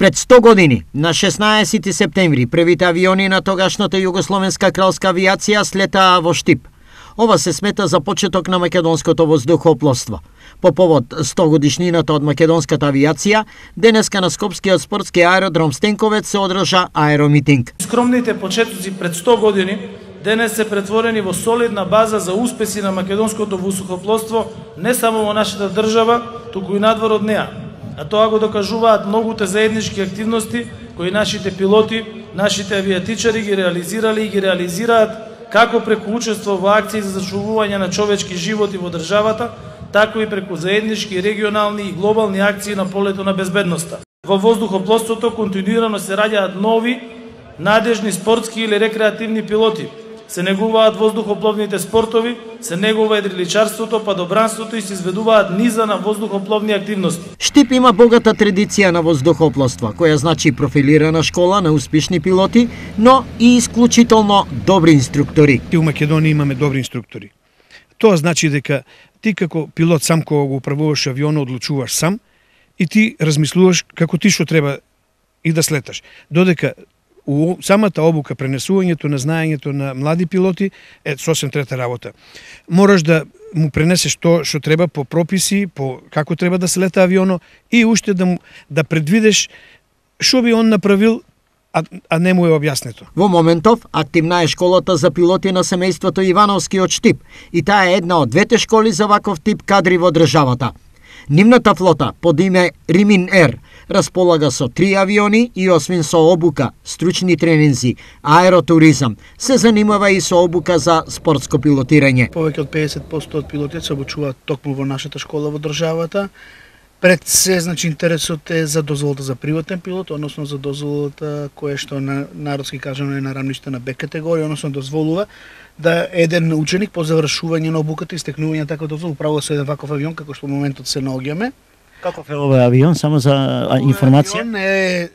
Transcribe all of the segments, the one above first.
Пред 100 години, на 16 септември, првите авиони на тогашната југословенска кралска авиација слетаа во Штип. Ова се смета за почеток на македонското воздухопловство. По повод 100 годишнината од македонската авиација, денеска на Скопскиот спортски аеродром Стенковец се одржа аеромитинг. Скромните почетоци пред 100 години денес се претворени во солидна база за успеси на македонското воздухопловство не само во нашата држава, туку и надвор од неа. А тоа го докажуваат многуте заеднички активности кои нашите пилоти, нашите авиатичари ги реализирали и ги реализираат како преку учество во акции за зачувување на човечки животи во државата, така и преку заеднички регионални и глобални акции на полето на безбедноста. Во воздухопловството континуирано се раѓаат нови, надежни спортски или рекреативни пилоти. Се негуваат воздухопловните спортови, се негува едриличарството, падобранството и се изведуваат низа на воздухопловни активности. Штип има богата традиција на воздухопловство, која значи профилирана школа на успешни пилоти, но и исклучително добри инструктори. У Македонија имаме добри инструктори. Тоа значи дека ти како пилот сам кога го управуваш авионот одлучуваш сам и ти размислуваш како ти што треба и да слеташ. Додека у самата обука, пренесувањето на знаењето на млади пилоти е сосем трета работа. Мораш да му пренесеш тоа што треба по прописи, по како треба да се лета авионот и уште да предвидеш што би он направил, а не му е објаснето. Во моментов активна е школата за пилоти на семејството Ивановски од Штип и таа е една од двете школи за ваков тип кадри во државата. Нивната флота под име Римин Ер располага со 3 авиони и освен со обука, стручни тренинзи, аеротуризам, се занимава и со обука за спортско пилотирање. Повеќе од 50% од пилотите се обучуваат токму во нашата школа во државата. Пред се, значи, интересот е за дозволата за приватен пилот, односно за дозволата која што на народски кажано е на рамниште на Б категорија, односно дозволува да еден ученик по завршување на обуката и стекнување на таква дозвола управува со еден ваков авион како што во моментот се наоѓаме. Каков е овој авион, само за информација? Авион е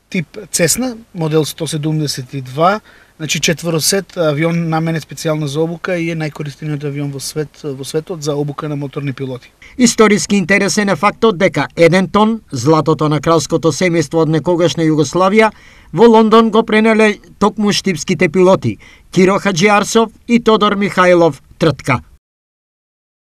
тип Цесна, модел 172, значи четворосет, авион наменет специјално за обука и е најкористениот авион во светот за обука на моторни пилоти. Историски интересен е фактот дека 1 тон златото на кралското семејство од некогашна Југославија во Лондон го пренеле токму штипските пилоти Киро Хаџиарсов и Тодор Михајлов Тртка.